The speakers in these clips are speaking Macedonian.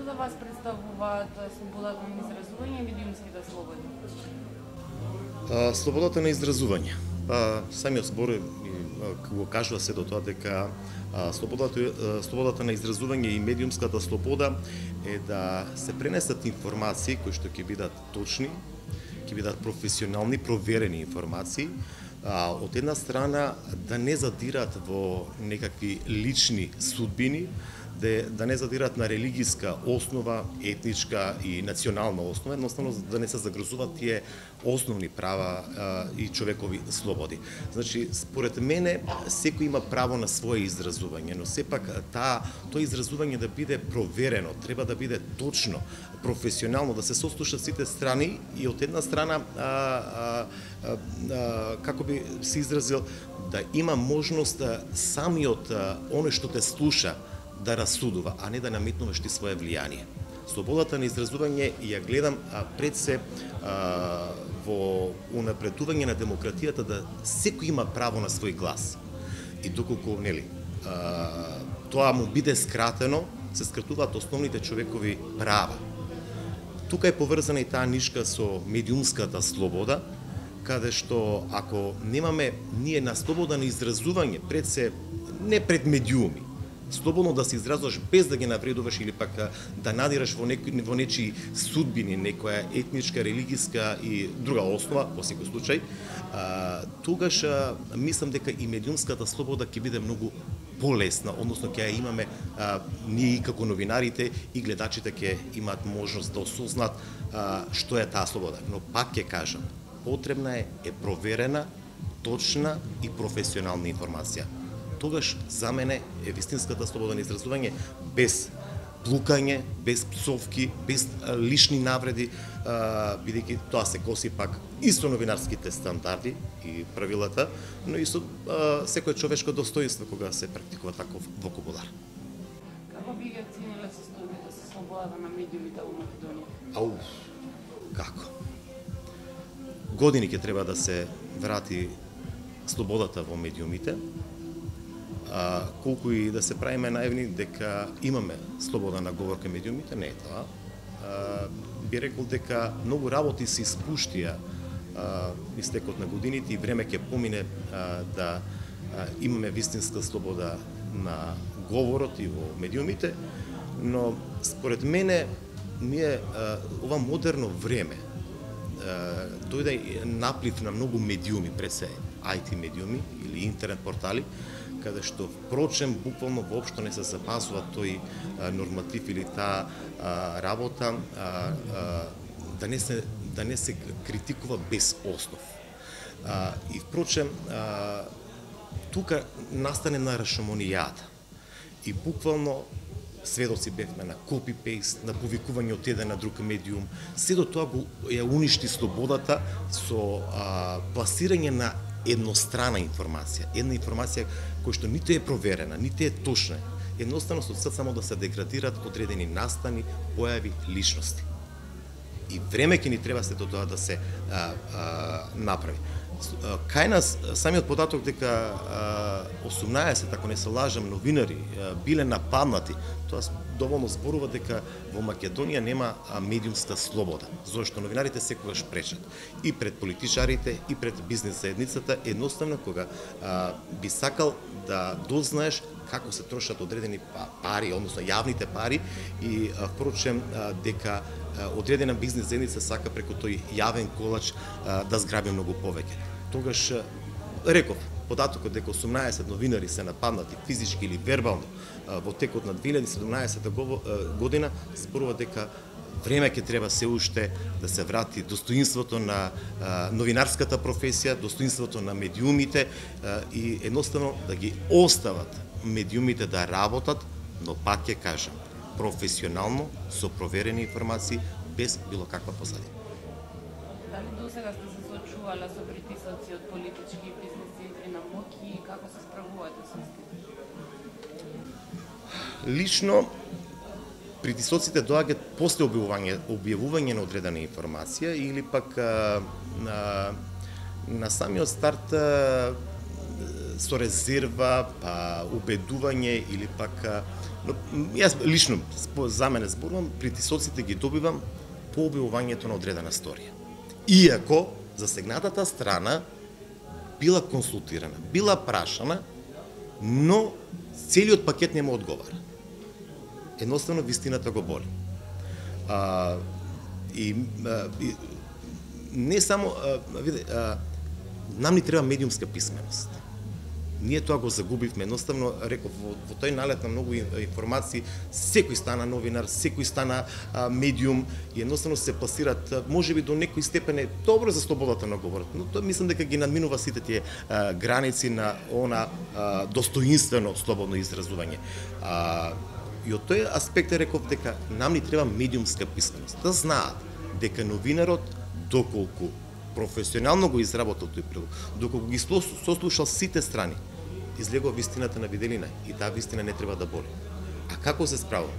за вас представуваат слободата на изразување и медиумските слободи? Слободата на изразување. Самиот збор го кажува се до тоа дека слободата на изразување и медиумската слобода е да се пренесат информации кои што ќе бидат точни, ќе бидат професионални, проверени информации, од една страна да не задират во некакви лични судбини, да не задират на религиска основа, етничка и национална основа, едноставно да не се загрозуваат тие основни права и човекови слободи. Значи, според мене, секој има право на свое изразување, но сепак тоа изразување да биде проверено, треба да биде точно, професионално, да се сослушат сите страни и од една страна, како би се изразил, да има можност самиот оној што те слуша да расудува, а не да наметнуваш ти свое влијание. Слободата на изразување ја гледам пред се во унапредување на демократијата, да секој има право на свој глас. И доколку тоа му биде скратено, се скратуваат основните човекови права. Тука е поврзана и таа нишка со медиумската слобода, каде што ако немаме ние на слобода на изразување, пред се не пред медиуми, слободно да се изразуваш без да ги навредуваш или пак да надираш во нечии судбини, некоја етничка, религиска и друга основа, во секој случај, тогаш мислам дека и медиумската слобода ќе биде многу полесна, односно ќе ја имаме ние и како новинарите и гледачите ќе имаат можност да осознат што е таа слобода. Но пак ќе кажам, потребна е проверена, точна и професионална информација. Тогаш за мене е вистинската слобода на изразување без плукање, без псовки, без лични навреди, бидејќи тоа се коси пак и со новинарските стандарди и правилата, но и со секое човечко достоинство кога се практикува таков вокабулар. Како би ги оцениле состојбите со слободата на медиумите во Македонија? Како? Години ќе треба да се врати слободата во медиумите, колку и да се правиме наивни дека имаме слобода на говор кај медиумите, не е тоа. Би рекол дека многу работи се испуштија истекот на годините и време ќе помине да имаме вистинска слобода на говорот и во медиумите, но според мене ние ова модерно време дојде наплив на многу медиуми, пред се IT медиуми или интернет портали, каде што впрочем буквално воопшто не се запазува тој норматив или таа работа да не се критикува без основ. И впрочем тука настане на рашомонијата и буквално сведоци бевме на копи-пейст, на повикување од еден на друг медиум. Се до тоа ја уништи слободата со пласирање на еднострана информација. Една информација која што ниту е проверена, ниту е точна. Едноставно со цел само да се деградираат одредени настани, појави, личности. И време ќе ни треба се до тоа да се направи. Кај нас самиот податок дека 18, ако не се лажам, новинари биле нападнати, тоа доволно зборува дека во Македонија нема медиумска слобода, зашто новинарите секогаш пречат и пред политичарите и пред бизнес заедницата, едноставно кога би сакал да дознаеш како се трошат одредени пари, односно јавните пари и впрочем дека одредена бизнес заедница сака преку тој јавен колач да зграби многу повеќе. Тогаш реков, податокот дека 18 новинари се нападнати физички или вербално во текот на 2017 година зборува дека време ќе треба се уште да се врати достоинството на новинарската професија, достоинството на медиумите и едноставно да ги остават медиумите да работат, но пак ќе кажам, професионално, со проверени информации, без било каква позадина. Дали досега сте се соочувале со притисоци од политички и бизнес центри на моќ и како се справувате со истите? Лично, притисоците доаѓаат после објавување на одредена информација или пак на самиот старт со резерва, па убедување или пак но јас лично за мене зборувам, притисоците ги добивам по објавувањето на одредена сторија. Иако засегнатата страна била консултирана, била прашана, но целиот пакет не му одговара. Едноставно вистината го боли. И не само нам ни треба медиумска писменост. Ние тоа го загубивме, едноставно реков во тој налет на многу информации, секој стана новинар, секој стана медиум и едноставно се пласират, можеби до некој степен е добро за слободата на говорот, но тоа мислам дека ги надминува сите тие граници на она достоинствено слободно изразување. И од тој аспект реков дека нам ни треба медиумска писменост. Да знаат дека новинарот доколку професионално го изработил тој прилог, доколку ги сослушал сите страни, излегува вистината на виделина и таа вистина не треба да боли. А како се справува?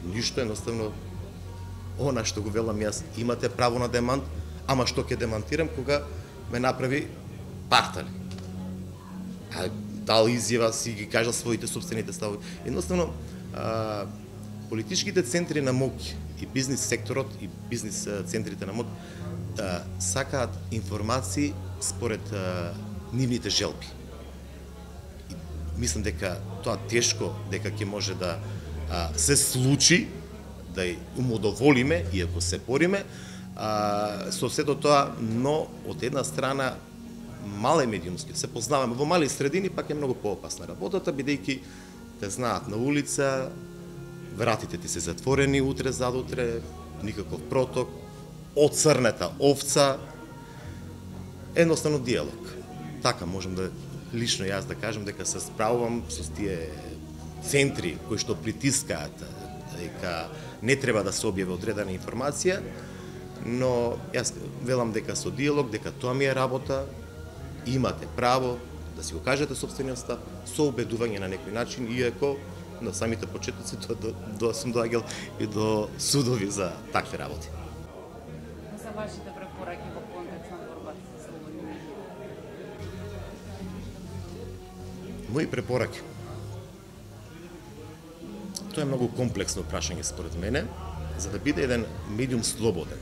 Ништо, едноставно она што го велам јас, имате право на демант, ама што ќе демантирам кога ме направи партали. Дал изјава, си ги кажал своите собствените ставови. Едноставно политичките центри на моќ и бизнис секторот и бизнис центрите на моќ сакаат информации според нивните желби. И мислам дека тоа тешко дека ќе може да се случи, да ја умодоволиме, иако се бориме, со сето тоа, но од една страна мале медиумски, се познаваме во мали средини, пак е многу поопасна работата, бидејќи те знаат на улица, вратите ти се затворени утре, задутре, никаков проток, оцрнета овца, едноставно диалог. Така можам да лично јас да кажам дека се справувам со тие центри кои што притискаат дека не треба да се објави одредена информација, но јас велам дека со диалог, дека тоа ми е работа, имате право да си го кажете собствениот став со убедување на некој начин, иако на самите почетоци сум доаѓал и до судови за такви работи. Вашите препораки во контекст на борбата за слободни медии? Мои препораки. Тоа е многу комплексно прашање според мене, за да биде еден медиум слободен.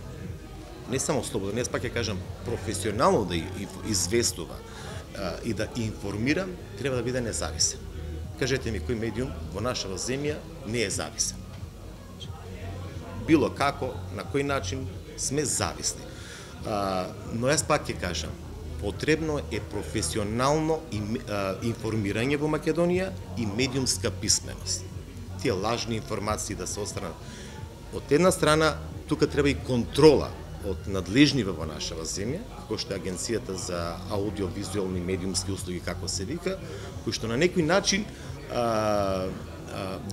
Не само слободен, јас пак ќе кажам професионално да известува и да информира, треба да биде независен. Кажете ми кој медиум во нашава земја не е зависен. Било како, на кој начин сме зависни. Но јас пак ќе кажам, потребно е професионално информирање во Македонија и медиумска писменост. Тие лажни информации да се отстранат. Од една страна, тука треба и контрола од надлежниве во нашава земја, како што е Агенцијата за аудиовизуелни медиумски услуги, како се вика, кој што на некој начин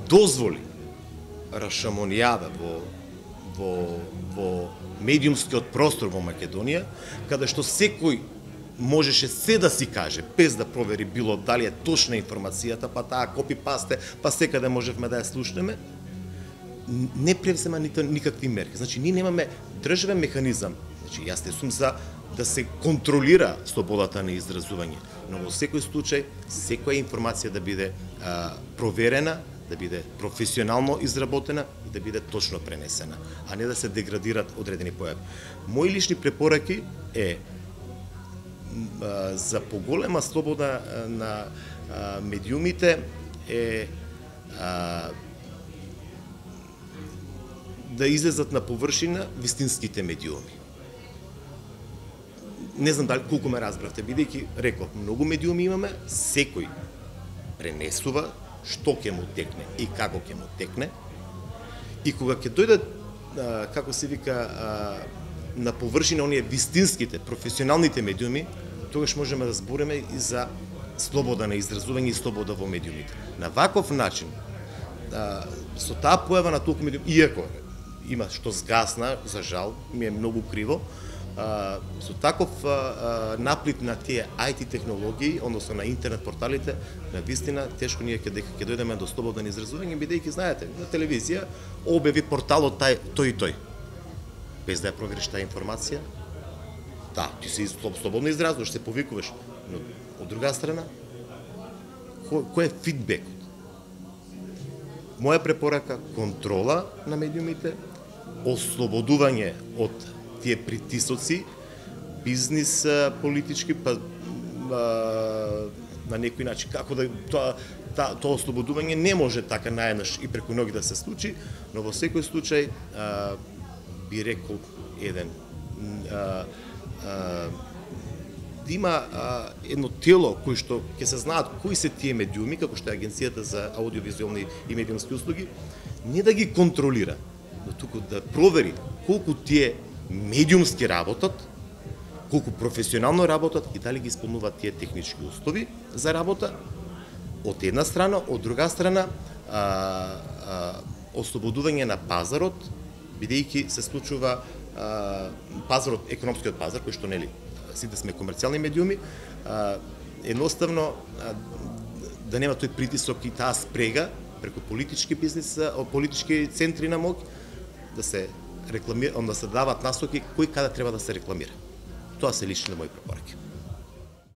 дозволи рашомонијава во медиумскиот простор во Македонија, каде што секој можеше се да си каже, без да провери било дали е точна информацијата, па таа копи-пасте, па секаде можевме да ја слушнеме, не превзема никакви мерки. Значи, ние немаме државен механизам. Значи, јас не сум за да се контролира слободата на изразување, но во секој случај, секоја информација да биде проверена, да биде професионално изработена и да биде точно пренесена, а не да се деградират одредени појави. Мои лични препораки е за поголема слобода на медиумите е да излезат на површина вистинските медиуми. Не знам дали колку ме разбравте, бидејќи реков, многу медиуми имаме, секој пренесува што ќе му текне и како ќе му текне. И кога ќе дојдат, како се вика, на површина оние вистинските, професионалните медиуми, тогаш можеме да збориме и за слобода на изразување и слобода во медиумите. На ваков начин, со таа појава на толку медиуми, иако има што згасна, за жал, ми е многу криво, со таков наплив на тие IT технологии, односно на интернет порталите, на вистина тешко ние ќе дојдеме до слободно изразување, бидејќи знаете, на телевизија објави порталот тој и тој. Без да ја провериш таа информација, да, ти се слободно изразуваш, се повикуваш, но од друга страна, кој е фидбекот? Моја препорака контрола на медиумите, ослободување од тие притисоци, бизнис, политички, па на некој начин како да тоа ослободување не може така наеднаш и преку ноги да се случи, но во секој случај би рекол еден да има едно тело кој што ќе се знаат кои се тие медиуми, како што е Агенцијата за аудиовизуелни и медиумски услуги, не да ги контролира, но туку да провери колку тие медиумски работат, колку професионално работат и дали ги исполнуваат тие технички услови за работа, од една страна, од друга страна ослободување на пазарот, бидејќи се случува пазарот, економскиот пазар, кој што нели сите сме комерцијални медиуми, едноставно да нема тој притисок и таа спрега преку политички бизнис, политички центри на моќ, да се рекламира, да се дават насоки кој каде треба да се рекламира. Тоа се лични мои препораки.